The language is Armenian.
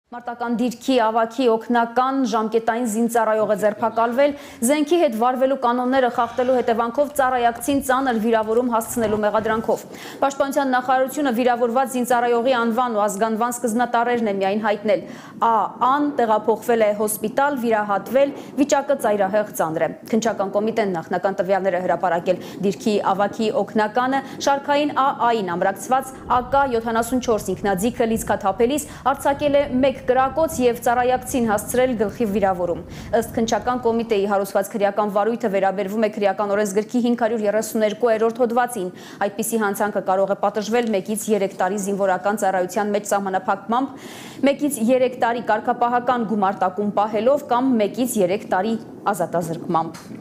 Մարտական դիրքի ավագի օգնական ժամկետային զինծառայող է ձերբակալվել, զենքի հետ վարվելու կանոնները խախտելու հետևանքով ծառայակցին ծանր վիրավորում հասցնելու մեղադրանքով։ Պաշտպանության նախարարությունը վիրավորված զինծառայողի անվան ու ազգանվան սկզբնատառերն է միայն հայտնել։ Ա.Ան տեղափոխվել է հոսպիտալ, վիրահատվել, վիճակը ծայրահեղ ծանր է։ Քննչական կոմիտեն նախնական տվյալները հրապարակել։ Դիրքի ավագի օգնականը շարքային ԱԱ-ին ամրացված AK-74 ինքնաձիգը լիցքաթափելիս արձակել է 1 կրակոց և ծառայակցին հասցրել գլխի վիրավորում։ Ըստ քննչական կոմիտեի հարուցված քրեական վարույթը վերաբերվում է քրեական օրենսգրքի 532-րդ հոդվածին։ Այդպիսի հանցանքը կարող է պատժվել 1-ից 3 տարի զինվորական ծառայության մեջ սահմանափակմամբ, 1-ից 3 տարի կարգապահական գումարտակում պահելով կամ 1-ից 3 տարի ազատազրկմամբ։